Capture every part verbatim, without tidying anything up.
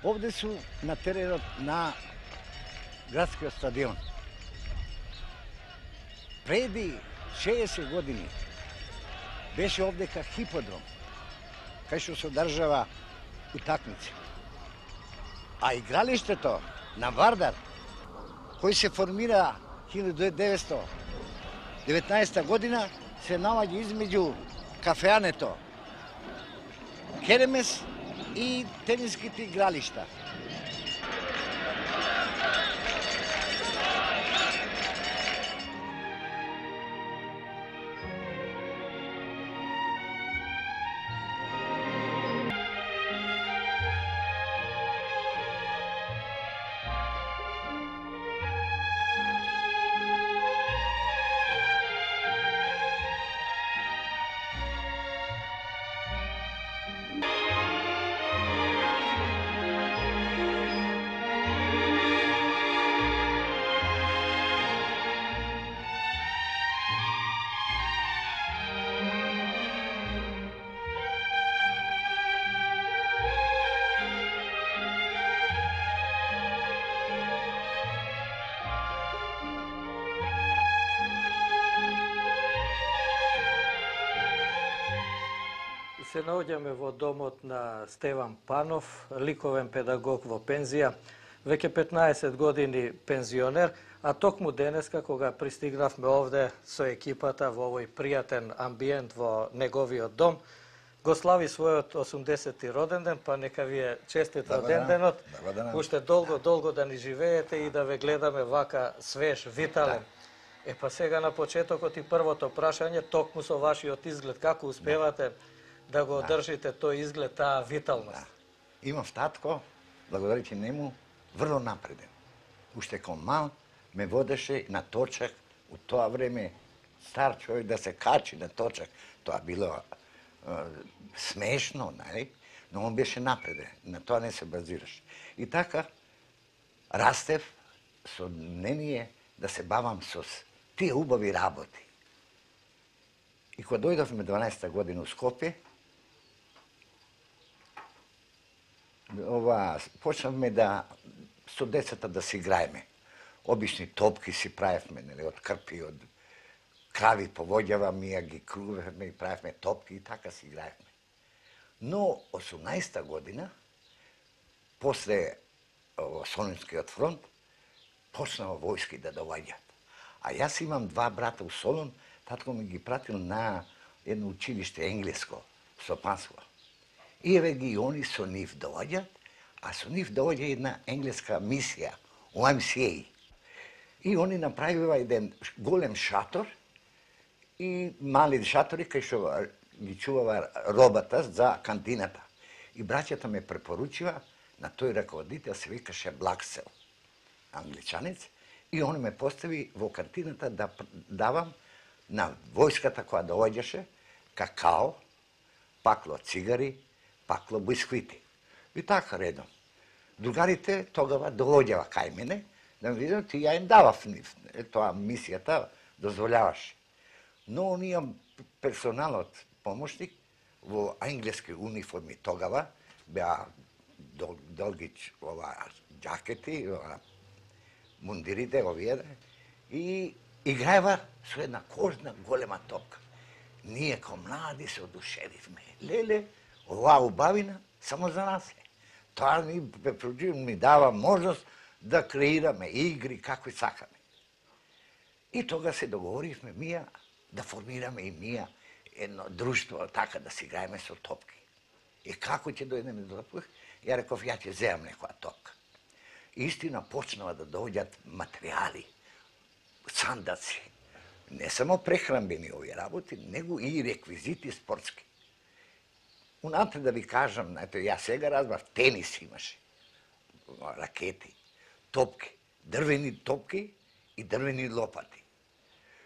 Овде су на теренот на градскиот стадион. Преди шеесет години беше овдека хиподром, кај што се одржава утакмици. А игралиштето на Вардар, кој се формира илјада деветстотини и деветнаесета година, се наоѓа измеѓу кафеането Керемес и тениските игралишта. Се наоѓаме во домот на Стеван Панов, ликовен педагог во пензија, веќе петнаесет години пензионер, а токму денеска кога пристигнавме овде со екипата во овој пријатен амбиент во неговиот дом, го слави својот осумдесети роден ден, па нека ви е честит роден денот, уште долго, долго да ни живеете и да ве гледаме вака свеж, витален. Е па сега на почетокот и првото прашање, токму со вашиот изглед, како успевате да го одржите тој изглед, таа виталност? Да. Имав татко, благодарите нему, врло напреден. Уште кон мал ме водеше на точак, у тоа време стар човек да се качи на точак, тоа било е, смешно, нали? Но он беше напреден, на тоа не се базираше. И така, растев со мнение да се бавам со тие убави работи. И кога дојдовме дванаесета година у Скопје, ова, почнавме да со децата да се играеме. Обични топки си правевме, нели, од крпи, од крави повоѓаваме, ја ги крувевме и правевме топки и така си играевме. Но осумнаесета година, после Солунскиот фронт, почнаа војски да доаѓаат. А јас имам два брата у Солун, татко ми ги пратил на едно училиште енглеско, Сопанство. И еве ги они со нив доаѓаат, а со нив доаѓа една енглеска мисија, о Ем Си Ей. И они направива еден голем шатор и мали шатори кај што ги чувава робата за кантината. И браќата ме препоручива на тој раководител, се викаше Блаксел, англичанец, и он ме постави во кантината да давам на војската која доаѓаше какао, пакло цигари, пакло бисквити. И така редом. Другарите тогава доаѓава кај мене, да ми видам, ти ја им давав нив. Тоа мисијата дозволяваше. Но оние персоналот, помошник, во англиски униформи тогава, беа дол, долгич ова джакети, ова мундирите, овие, и играева со една кожна голема топка. Ние ко млади се одушевивме. Леле, оваа убавина само за нас е. Тоа ни, ми дава можност да креираме игри како и сакаме. И тога се договоривме мија да формираме и мија едно друштво, така да си играеме со топки. И како ќе дојдеме до топки? Ја реков, ја ќе земам некоја топка. Истина почнава да доаѓаат материјали, сандаци, не само прехранбени овие работи, него и реквизити спортски. Унапред да ви кажам, ето ја сега разбрав, тенис имаше, ракети, топки, дрвени топки и дрвени лопати.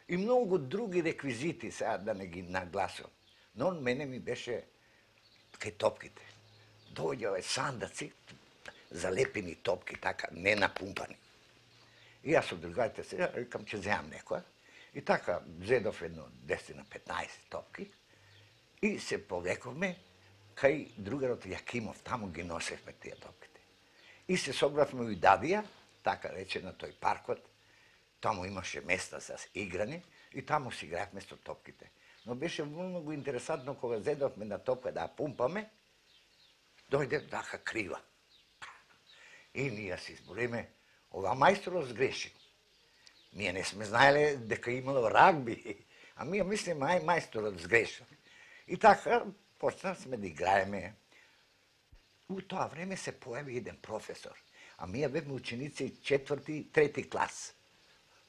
И многу други реквизити, сега да не ги нагласувам. Но мене ми беше кај топките. Доаѓа сандаци, залепени топки, така, не напумпани. И јас од другарите сега, рекам, ќе земам некоја. И така, зедов едно десет на петнаесет топки и се повлековме кај другарот Јакимов, таму ги носевме тие топките. И се собравме у Дадија, така рече, на тој паркот. Таму имаше места за играни и таму си игравме со топките. Но беше многу интересантно кога зедовме на топка да ја пумпаме, дојде даха крива. И ние си избориме, ова мајсторот сгрешил. Ние не сме знаеле дека имало рагби, а ние мислиме, ај мајсторот сгрешил. И така почнавме да играеме. У тоа време се појави еден професор, а ние бевме ученици четврти, трети клас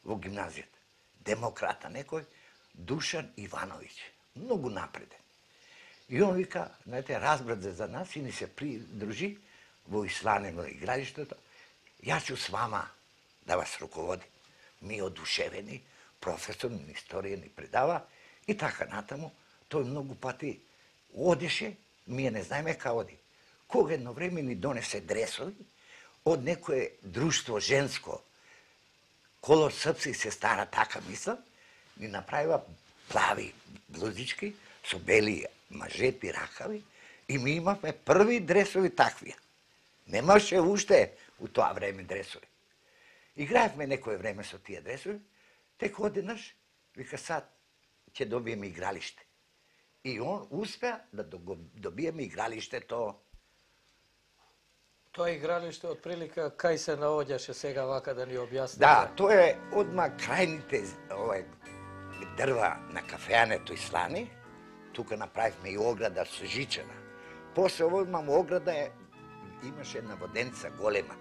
во гимназијата. Демократа некој, Душан Ивановиќ, многу напреден. И он вика, знаете, разбрат за нас и ни се придружи во Ислане во игралиштето. Јас ќе с вама да вас руководим. Ми одушевени, професор на историја ни предава и така натаму. Тој многу пати одеше, ние не знаеме кај оди. Кога едно време ни донесе дресови од некое друштво женско, колор српски се стара така мисла, ни направива плави блузички со бели мажети ракави и ми имавме први дресови таквија. Немаше уште у тоа време дресови. Играевме некое време со тие дресови, тек одеднаш вика сад ќе добиеме игралиште. И он успеа да добиеме игралиштето. Тоа игралиште отприлика кај се наоѓаше сега вака да ни објасните? Да, тоа е одма крајните овај дрва на кафеането Ислани. Тука направивме и ограда со жичана. После ово имам ограда е, имаше една воденица голема.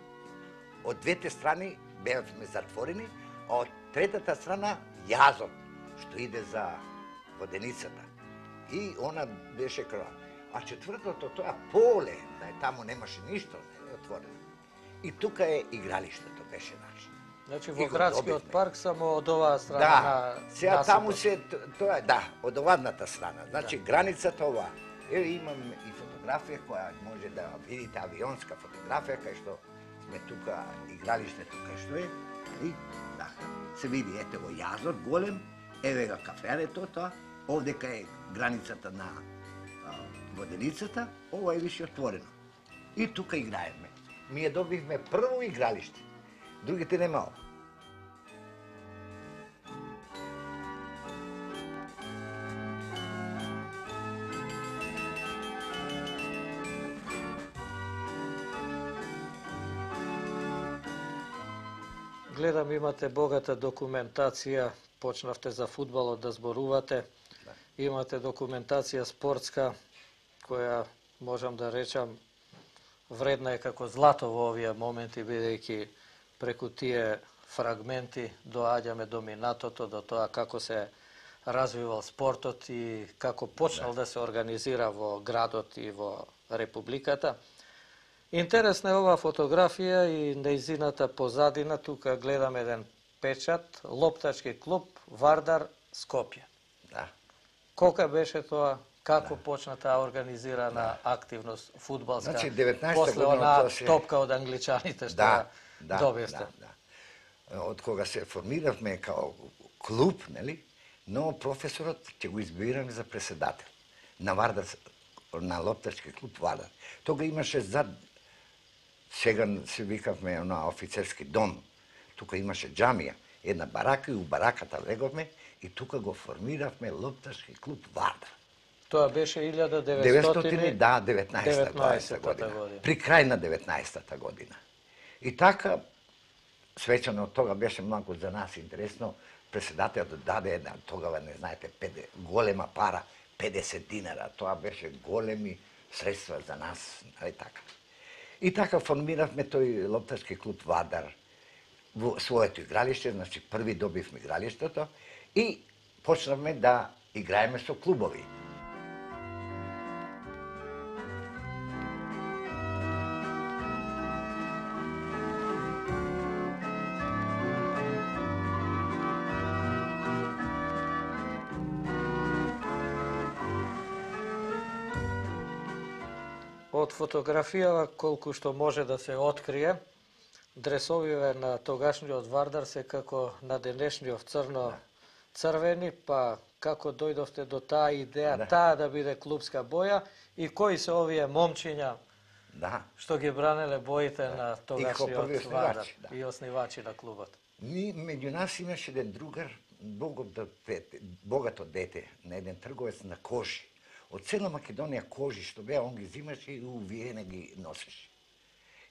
Од двете страни бевме затворени, а од третата страна јазот, што иде за воденицата. И она беше крва. А четвртото тоа поле, да е таму немаше ништо, не е отворено. И тука е игралиштето беше наше. Значи во градскиот парк само од оваа страна да, на сега таму се тоа е, да, од овадната страна. Значи да. Границата ова. Еве имам и фотографија која може да видите, авионска фотографија кај што сме тука игралиштето кај што е. И да, се види ете во јазот голем, еве га кафеането тоа, овде кај границата на а, воденицата, ова е више отворено. И тука играеме. Ние добивме прво игралиште. Другите нема ова. Гледам имате богата документација, почнавте за фудбалот да зборувате. Да. Имате документација спортска која можам да речам вредна е како злато во овие моменти, бидејќи преку тие фрагменти доаѓаме до минатото, до тоа како се развивал спортот и како почнал да, да се организира во градот и во републиката. Интересна е оваа фотографија и нејзината позадина. Тука гледам еден печат, лоптачки клуб Вардар Скопје. Да. Колка беше тоа? Како да. Почна таа организирана да. Активност фудбалска? Значи, деветнаесета после онаа се... топка од англичаните што да, да, добивте. Да, да. Од кога се формиравме као клуб, нели? Но професорот ќе го избираме за преседател на Вардар, на лоптачки клуб Вардар. Тога имаше зад, сега се викавме на офицерски дом, тука имаше џамија, една барака и у бараката леговме и тука го формиравме лоптачки клуб Вардар. Тоа беше илјада деветстотини деветстотини, да, деветнаесета година. година. При крај на деветнаесета година. И така, свечано од тога беше многу за нас интересно, преседателот даде една, тогава не знаете, педе, голема пара, педесет динара. Тоа беше големи средства за нас, нали така. И така формиравме тој лоптачки клуб Вардар во своето игралиште, значи први добивме игралиштето и почнавме да играеме со клубови. Од фотографија, колку што може да се открие, дресовиве на тогашниот Вардар се како на денешниот црно-црвени, па како дојдовте до таа идеја, да. Таа да биде клубска боја и кои се овие момчиња Да. Што ги бранеле боите на И како тогашниот први Вардар основачи, да. и основачи на клубот. Ни, меѓу нас имаше еден другар, богато дете, богато дете, на еден трговец на кожи. Од цела Македонија кожи што беа, он ги зимаше и увиене ги носеше.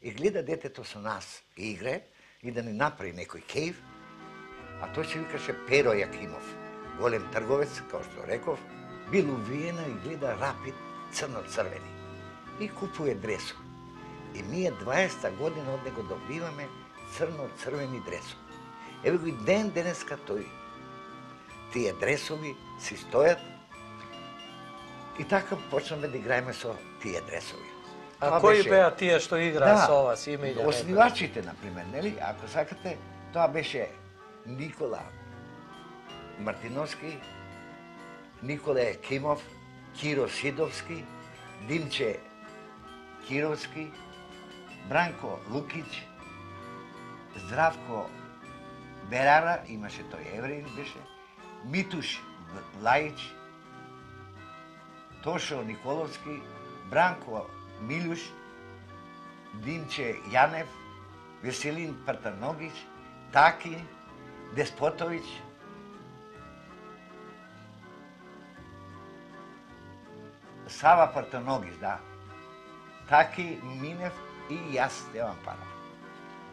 И гледа детето со нас, игре, и да ни направи некој кејф, а тој се викаше Перо Јакимов, голем трговец, како што реков, бил увиена и гледа Рапид црно-црвени. И купуе дресови. И ние дваесетта година од него добиваме црно-црвени дресови. Еве го и ден денеска тој. Тие дресови си стојат и така почнаме да играеме со тие дресови. А Тоа кои беше- беа тие што играа Да, со вас, име и да Основачите, например, нели? Ако сакате, тоа беше Никола Мартиновски, Никола Екимов, Киро Сидовски, Димче Кировски, Бранко Лукич, Здравко Берара, имаше тој евреин беше, Митуш Лајич, Тошо Николовски, Бранко Милуш, Димче Јанев, Веселин Партаногич, Таки, Деспотовиќ, Сава Партаногич, да. Таки, Минев и јас, Стеван Панов.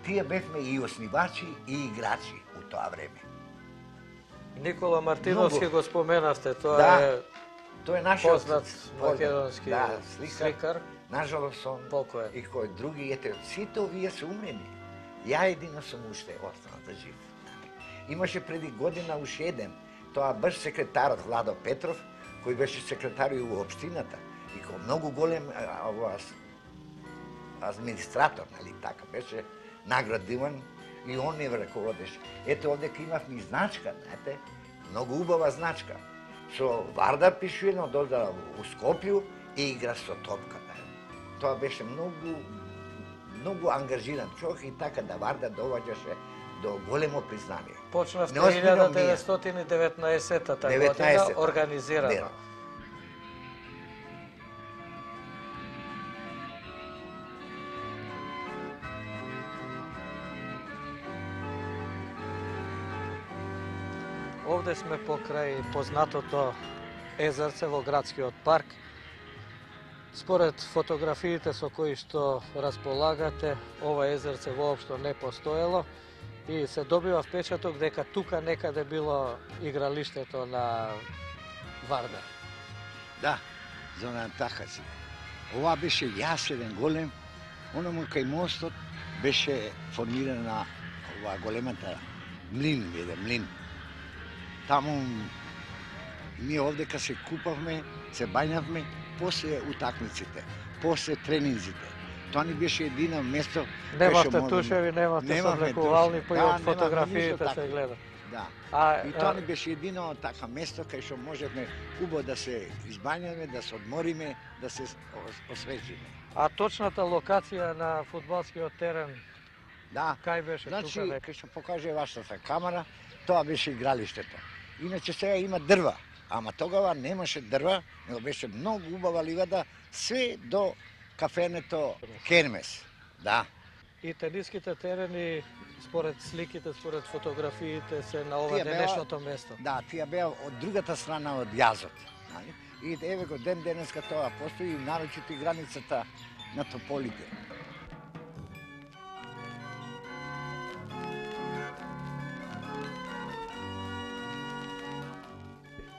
Тие бевме и основачи и играчи у тоа време. Никола Мартиновски Многу. го споменавте, тоа Да. е Тој е нашиот познат македонски да, сликар. сликар. Нажалост он Покоен. и кој други, ете, сите овие се умрени. Ја едино сум уште останата жив. Имаше преди година уште еден, тоа баш секретарот Владо Петров, кој беше секретар и у општината и кој многу голем а, ова, администратор, нали, така беше наградиван и он не раководеше. Ето овде имавме и значка, знаете, многу убава значка. Со Вардар пишуено дозда у Скопју и игра со топка. Тоа беше многу многу ангажиран човек и така да Вардар доваѓаше до големо признание. Почнавте Не озбирам ние. деветнаесетстотини и деветнаесетта година деветнаесетта. организирано. Верно. Овде сме покрај познатото езерце во градскиот парк. Според фотографиите со кои што располагате, ова езерце воопшто не постоело и се добива впечаток дека тука некаде било игралиштето на Вардар. Да, зона така си. Ова беше јас еден голем, оному кај мостот беше формирана ова големата млин, еден млин. Таму ние овдека се купавме, се бајнавме, после утакмиците, после тренинзите. Тоа ни беше едино место Немавте кај што тушеви, немавте Немавме соблекувални, тушеви. па и Да, од немавме фотографиите ништо се такво. гледа. Да. А, И тоа а, ни беше едино така место кај што можевме убаво да се избањаме, да се одмориме, да се ос- освежиме. а точната локација на фудбалскиот терен, Да. кај беше Значи, тука дека? кај што покаже вашата камера, тоа беше игралиштето. Иначе сега има дрва, ама тогава немаше дрва, него беше многу убава ливада, све до кафенето Кермес. Да. И тениските терени, според сликите, според фотографиите, се на ова Тие беа- денешното место. Да, тие беа од другата страна од јазот. Нали? И еве го ден денеска тоа постои и нарочито и границата на Тополите.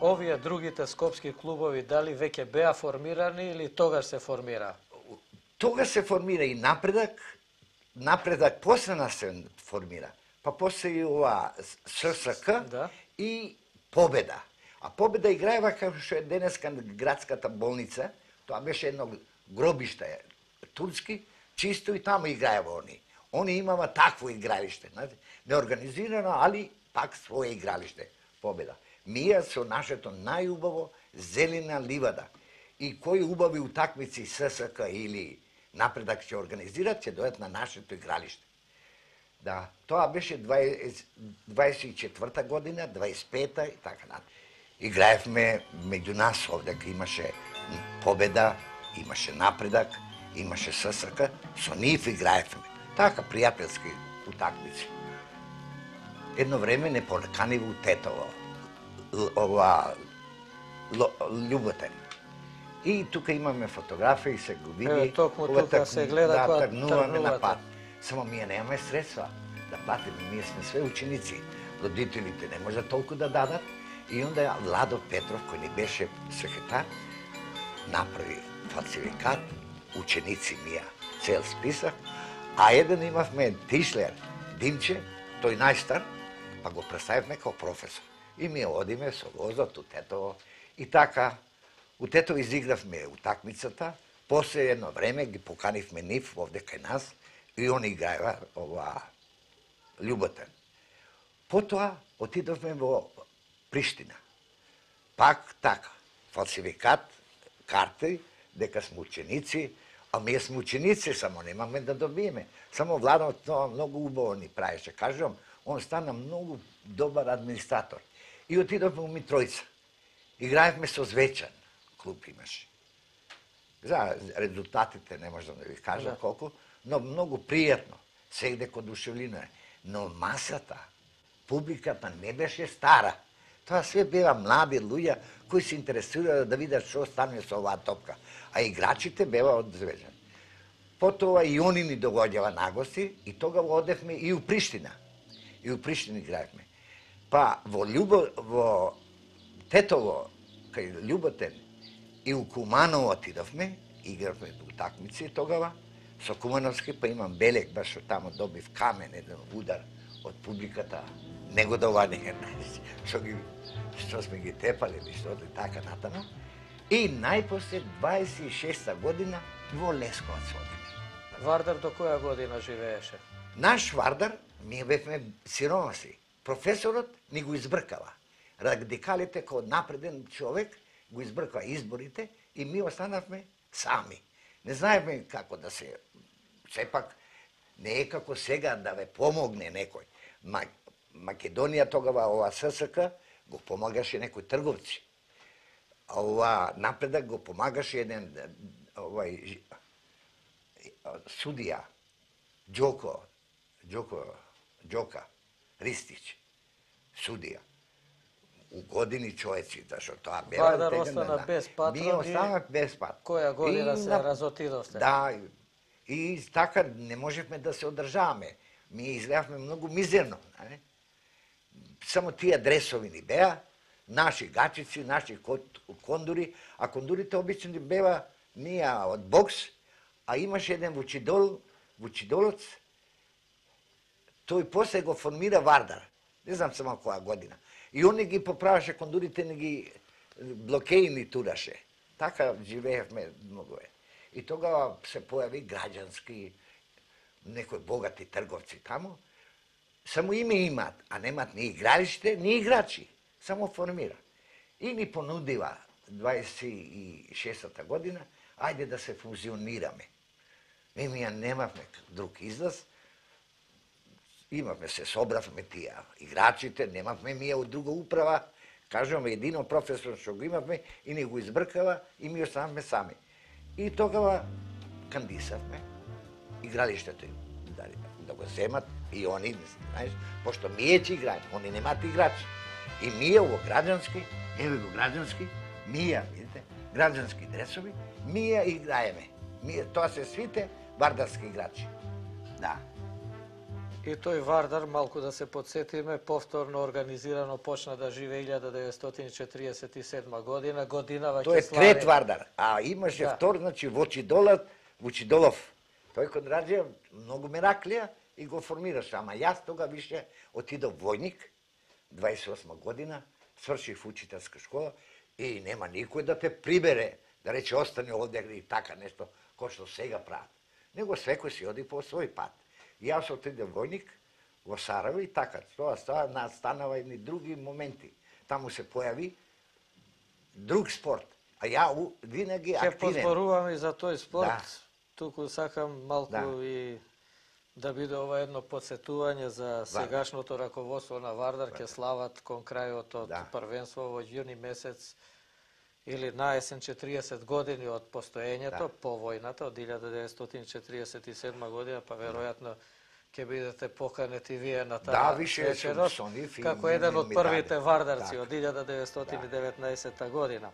Овие другите скопски клубови дали веќе беа формирани или тогаш се формира? Тога се формира и напредак, напредак после нас се формира. Па после и ова ССК Да. и Победа. А Победа играева како што е денеска градската болница, тоа беше едно гробиште турски, чисто и таму играева они. Они имава такво игралиште, знаете, неорганизирано, али пак свое игралиште, Победа. Ние со нашето најубаво зелена ливада. И кои убави утакмици ССК или напредак ќе организират, ќе дојдат на нашето игралиште. Да, тоа беше дваесет и четврта година, дваесет и пета и така натаму. Играевме меѓу нас овде, имаше Победа, имаше напредак, имаше ССК, со нив играевме. Така, пријателски утакмици. Едно време не понеканива у Тетово, ова, Љуботен. И тука имаме фотографија и се го види. Еве, токму тука се гледа да, кога тргнуваме на тргнувате. пат. Само ние немаме средства да платиме, ние сме све ученици. Родителите не може толку да дадат. И онда Владо Петров, кој ни беше секретар, направи фалсификат, ученици мија, цел список, а еден имавме Тишлер, Димче, тој најстар, па го представивме како професор. И ми одиме со возот у Тетово. И така, у Тетово изигравме утакмицата, после едно време ги поканивме нив овде кај нас и они играева ова Љуботен. Потоа отидовме во Приштина. Пак така, фалсификат, карти, дека сме ученици, а ние сме ученици, само немаме да добиеме. Само Владо тоа многу убаво ни правеше. Кажувам, он стана многу добар администратор. И отидовме у Митројца. Играевме со Звечан, клуб имаше. За резултатите не можам да ви кажам Да. колку, но многу пријатно. Сегде код душевлина е. Но масата, публиката не беше стара. Тоа све беа млади луѓе кои се интересираа да видат што стане со оваа топка. А играчите беа од Звечан. Потоа и они ни доаѓаа нагости и тогава одевме и у Приштина. И у Приштина играевме. Па во Љубо, во Тетово, кај Љуботен, и у Куманово отидовме, игравме утакмици тогава, со Кумановски, па имам белег, баш што тамо добив камен, еден удар од публиката, негодување, што ги што сме ги тепали, или што и така натаму. И најпосле дваесет и шеста година во Лесковац одиме. Вардар до која година живееше? Наш Вардар, ние бевме сиромаси. Професорот ни го избркава. Радикалите кој напреден човек го избркава изборите и ми останавме сами. Не знаеме како да се... Сепак, не е како сега да ве помогне некој. Македонија тогава, ова ССК, го помагаше некои трговци. А ова напредак го помагаше еден овај судија, Џоко, Џоко, Џока, Ристич, судија. У години човеци, зашто тоа беа... Вардар остана без патрон. Ние останавме без патрон. Која година И се на- разотидовте? Да, и така не можевме да се одржаваме. Ние изгледавме многу мизерно. Не? Само тие дресови ни беа, наши гачици, наши кот- кондури, а кондурите обично ни беа ние од бокс, а имаше еден вучидол, вучидолец, тој после го формира Вардар. Не знам само која година. И он ги поправаше кондурите, не ги блокеи ни тураше. Така живеевме многу е. И тогава се појави граѓански, некои богати трговци таму, само име имат, а немат ни игралиште, ни играчи. Само формира. И ни понудива дваесет и шеста година, ајде да се фузионираме. Ми ми ја немавме друг излаз, имавме се собравме тие играчите, немавме ми ја од друга управа, кажуваме едино професор што го имавме и ни го избркава и ми останавме сами. И тогава кандисавме игралиштето им да, да го земат и они, знаеш, пошто ние ќе играеме, они немаат играчи. И ние во граѓански, еве го граѓански, ние, видите, граѓански дресови, ние играеме. Ние, тоа се свите вардарски играчи. Да. И тој Вардар, малку да се подсетиме, повторно организирано почна да живее илјада деветстотини четиридесет и седма година, годинава Тој е ќе слави... трет Вардар, а имаше Да. втор, значи Вочидолов, Вучидолов. Тој кон раѓа многу мераклија и го формираше, ама јас тога више отидов војник, дваесет и осма година, свршив учителска школа и нема никој да те прибере, да рече остане овде и така нешто, кој што сега прават. Него секој си оди по свој пат. Јас отидев војник во Сараево и така, тоа става, настанава и други моменти. Таму се појави друг спорт, а ја у- винаги Ќе активен. позборуваме и за тој спорт. Да. Туку сакам малку Да. и да биде ова едно подсетување за сегашното раководство на Вардар, ќе слават кон крајот од Да. првенство во јуни месец или на есен четириесет години од постоењето, Да. по војната, од илјада деветстотини четириесет и седма година, па веројатно ќе бидете поканети вие на таа Да, више вечерот, со нив и како ми- еден ми- од ми првите даде. вардарци Така. од илјада деветстотини и деветнаесетта година.